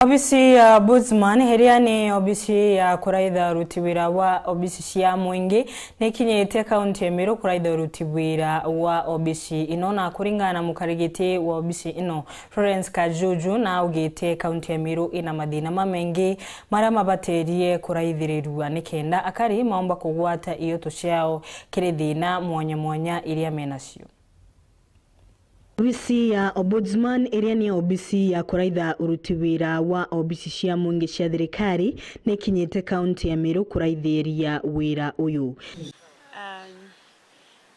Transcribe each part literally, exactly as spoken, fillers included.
Obisi ya Ombudsman, iria ni obisi ya kuraitha uruti wira wa obisi cia mwingi, nikinyite kaunti ya Meru kuraitha uruti wira wa obisi ino, na kuringana na mukarigiti wa obisi ino, Florence Kajuju, naugite kaunti ya Meru ina mathina mamaingi maria mabatirie kuraithirirua nikenda akari maumba kugwata ioto ciao kiri thina mwanya mwanya iria menacio. Obisi ya Ombudsman, iria ni obisi ya kuraitha uruti wira wa obisi cia mwingi cia thirikari, nikinyite kaunti ya Meru kuraithiria wira uyu. Um,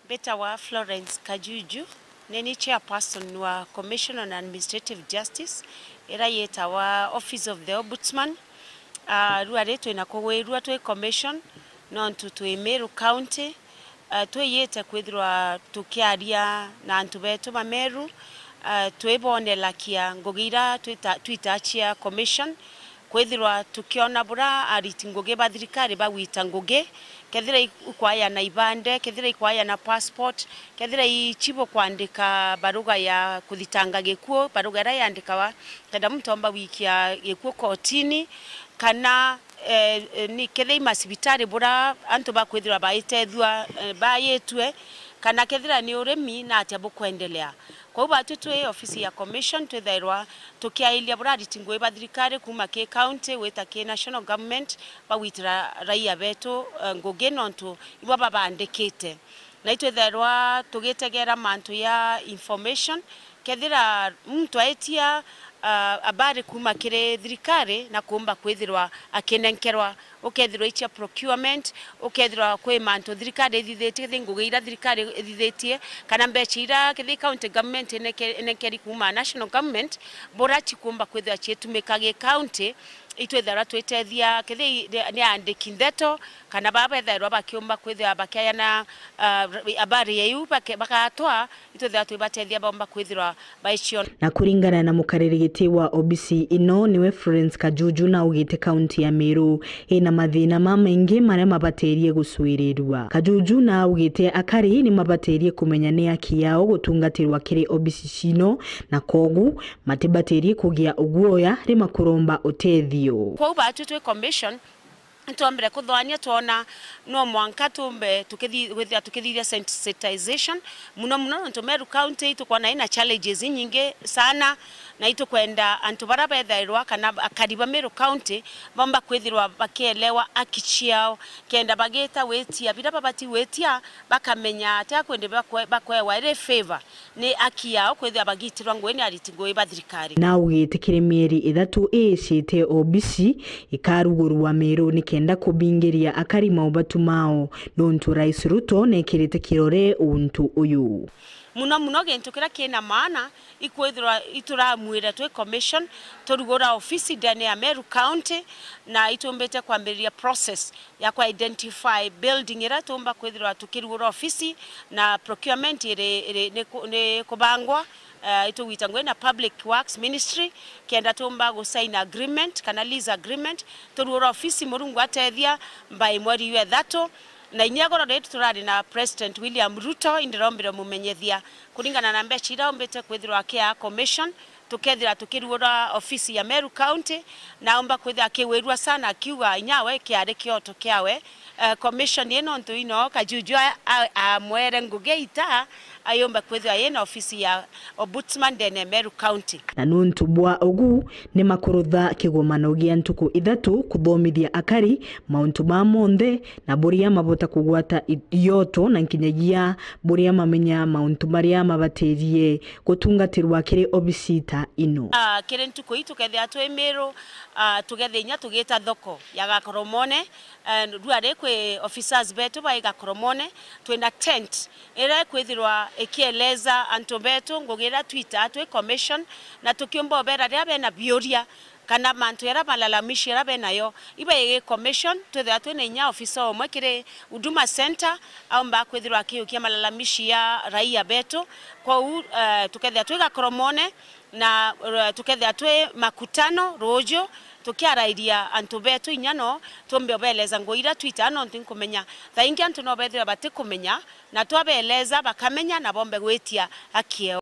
mbitawa Florence Kajuju, ni ni chairperson wa Commission on Administrative Justice, iria yitawa Office of the Ombudsman. Ah, riu ari twina kugwirua twi commission, nontu twi Meru County, ah, twiyite kwithirwa tukiaria na antu betu ba Meru, ah, twibonelakia ngugi iria twita-, twita cia commission, kwithirwa tukiona buria ariti ngugi ba thirikari bagwita ngugi, kethira i-, ikwaya na ibande, kethira ikwaya na passport, kethira i-, chibukwandika baruga ya kuthitanga gikuu, baruga iria yandikawa kenda muntu omba gwikia gikuu kotini, kana, eh, eh, ni kethira i macibitari buria antu bakwithirwa baitethua, eh, bayitue, kana kethira ni urimi, na atia bukwendelea. Kwou batwi twi ofisi ya commission twithairwa tukiairia buria ariti ngugi ba thirikari kuuma ki county gwita ki national government bagwitira raia betu, eh, ngugi nontu ibo babandikite. Na itwithairwa tugitegera mantu ya information, kethira muntu aitia, ah, habari kuuma kiri thirikari na kuumba kwithirwa akinenkerwa, ukethirwa itia procurement, ukethirwa kwi mantu thirikari ithithitie, kethi ngugi iria thirikari ithithitie, kana mbeca iria kethi county government ineke-, inenkeri kuuma national government, bura chikuumba kwithirwa chiitumika gi county, itwithairwa twitethia kethi ni aandiki ndeto, kana baa bethairwa bakiumba kwithirwa bakiayana, ah, habari ya iu bake-, bagatwa, itwithairwa twibatethia baumba kwithirwa baichiona. Na kuringana na mukariri giti wa obisi ino, niwe Florence Kajuju, naugite kaunti ya Meru ina mathina mamaingi maria mabatirie gucwirirua. Kajuju naugite akari ni mabatirie kumenya ni aki yao gutungatirwa kiri obisi cino, na kogu matibatirie kugia uguoya rima kuromba utethio. Kwou batwi twi commission, nitwombire kuthwania, twona no mwanka tumbe tukithi-, gwithira tukithithia sensitization, muno muno nontu Meru County itukwona ina challenges inyingi sana, na itukwenda antu baria bethairwa kana akari ba Meru County baumba kwithirwa bakielewa aki ciao, kenda bagita gwitia biria babati gwitia, bakamenya atia kwindi bakwe-, bakwewa iri favor. Ni aki yao kwithirwa bagitirwa ngugi ni ariti ngugi ba thirikari. Na ugite kiri mieri ithatu iicite obisi ikarugurwa Meru nikenda kubingiria akari maubatu mao, nontu Rais Ruto nekirite kirore untu uyu. Muno muno gintu kiria kina maana ikwithirwa ituramwire twi commission turugura ofisi ndene ya Meru County, na itumbite kwambiriria process ya ku identify building iria tumba kwithirwa tukirugura ofisi, na procurement iri, iri, ni ku-, ni kubangwa, eh, itugwita ngugi na Public Works Ministry, kenda tumba gu sign agreement kana lease agreement, turugura ofisi Murungu atethia mbai mweri jwa ithatu. Na inya goro ritu turari na President William Ruto, indirombire mumenyethia kuringana na mbeca iria umbite kwithirwa akia commission, tukethira tukirugura ofisi ya Meru County, na aumba kwithira akiwirua sana akiuga inya we kiari kioto kiawe, eh, commission ino ntu ino Kajuju a-, a-, amwere ngugi ita ayumba kwithira yina ofisi ya Ombudsman ndene Meru County. Na nuntu bwa ugu, ni makurutha kigomano gia ntuku ithatu kuthomithia akari mauntu ma monthe na buria mabota kugwata i-, ioto na nkinyagia buria mamenya mauntu maria mabatirie gutungatirwa kiri obisi ta ino. Ah, kiri ntuku ii tukethia twi Miru, ah, tukethia inya tugita thoko ya Gakoromone, eh, riu ari kwi officers betu bai Gakoromone, twina tent iria ikwithirwa ikieleza antu betu ngugi iria twitaa twi commission, na tukiumba ubera riria bena biuria kana mantu jaria malalamishi jaria benayo, ibaigi commission, twithirwa twina inya ofisa umwe kiri Huduma Center, aumba kwithirwa akiukia malalamishi ya raia betu. Kwou, eh, tukethia twi Gakoromone na, eh, tukethia twi makutano ruuju, tukiarairia antu betu inya no tumbe ubeleza ngugi iria twitaa, nontu nkumenya thaa ingi antu no bethirwa batikumenya, na twabeleza bakamenya na bombe gwitia haki yao.